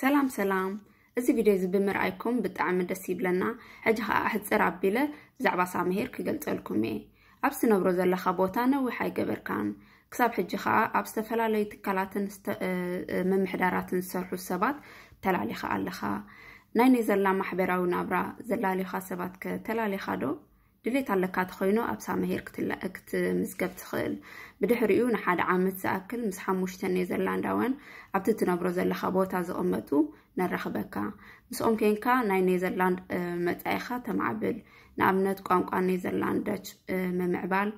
ሰላም ሰላም። እዚ ቪድዮ እዚ ብምርኣይኩም ብጣዕሚ ደስ ይብለና። ሕጂ ኸኣ ኣሕጽር ኣቢለ ብዛዕባ ሳምሄር ክገልጸልኩም እየ። ኣብ ትነብሮ ዘለኻ ቦታ ነዊሕ ኣይገበርካን። ክሳብ ሕጂ ኸኣ ኣብ ዝተፈላለዩ ትካላትን ስተ- እ- እ- ምምሕዳራትን ዝሰርሑ ሰባት ተላሊኻ ኣለኻ። ናይ ኔዘርላንድ ማሕበራዊ ናብራ ዘላልዩኻ ሰባት ከ ተላሊኻ ዶ? ድሌት ኣለካ ተኾይኑ ኣብ ሳምሄር ክትላ- ክትምዝገብ ትኽእል። ብድሕሪኡ ንሓደ ዓመት ዝኣክል ምስ ሓሙሽተ ኔዘርላንዳውያን ኣብቲ ትነብሮ ዘለኻ ቦታ ዝቕመጡ ነራኽበካ። ምስኦም ኮንካ ናይ ኔዘርላንድ መጻኢኻ ተማዕብል። ንኣብነት ቋንቋ ኔዘርላንድ፣ ዳች ምምዕባል፣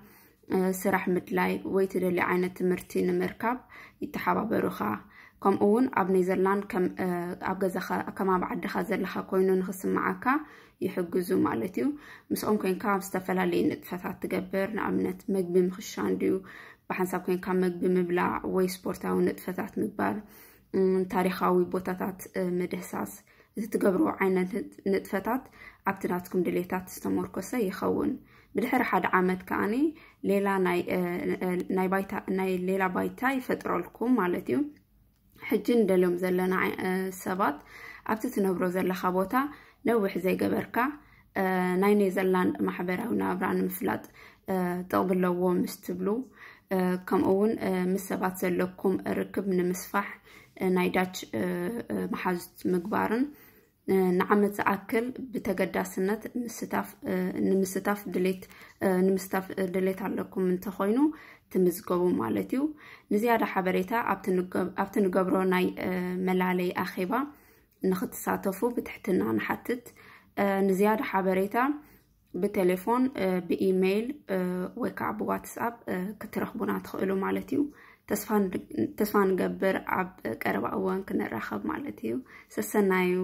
ስራሕ ምድላይ ወይ ትደልዮ ዓይነት ትምህርቲ ንምርካብ ይተሓባበሩኻ። ከምኡ እውን ኣብ ኔዘርላንድ ከም ኣብ ገዛኻ ከም ኣብ ዓድኻ ዘለኻ ኮይኑ ንኽስምዓካ ይሕግዙ ማለት እዩ። ምስኦም ኮንካ ኣብ ዝተፈላለዩ ንጥፈታት ትገብር፣ ንኣብነት መግቢ ምኽሻን ድዩ፣ ብሓንሳብ ኮንካ መግቢ ምብላዕ ወይ ስፖርታዊ ንጥፈታት ምግባር፣ ታሪኻዊ ቦታታት ምድህሳስ፣ እቲ ትገብርዎ ዓይነት ንጥፈታት ኣብቲ ናትኩም ድሌታት ዝተመርኮሰ ይኸውን። ብድሕሪ ሓደ ዓመት ከኣ ሌላ ናይ ሌላ ባይታ ይፈጥረልኩም ማለት እዩ። ሕጂ ንደልዮም ዘለና ሰባት ኣብቲ ትነብሮ ዘለኻ ቦታ ነዊሕ ዘይገበርካ ናይ ኔዘርላንድ ማሕበራዊ ናብራ ንምፍላጥ ጥቕሚ ኣለዎ ምስ ትብሉ፣ ከምኡ እውን ምስ ሰባት ዘለኩም ርክብ ንምስፋሕ ናይ ዳች መሓዙት ምግባርን ንዓመት ዝኣክል ብተገዳስነት ምስታፍ ንምስታፍ ድሌት ንምስታፍ ድሌት ኣለኩም እንተኾይኑ ትምዝገቡ ማለት እዩ። ንዝያዳ ሓበሬታ ኣብቲ ንገብሮ ናይ መላለይ ኣኼባ ንኽትሳተፉ ብትሕትና ንሓትት። ንዝያዳ ሓበሬታ ብቴሌፎን፣ ብኢሜይል ወይ ከዓ ብዋትስኣፕ ክትረኽቡና ትኽእሉ ማለት እዩ። ተስፋ ንገብር ኣብ ቀረባ እዋን ክንራኸብ ማለት እዩ። ሰሰናዩ።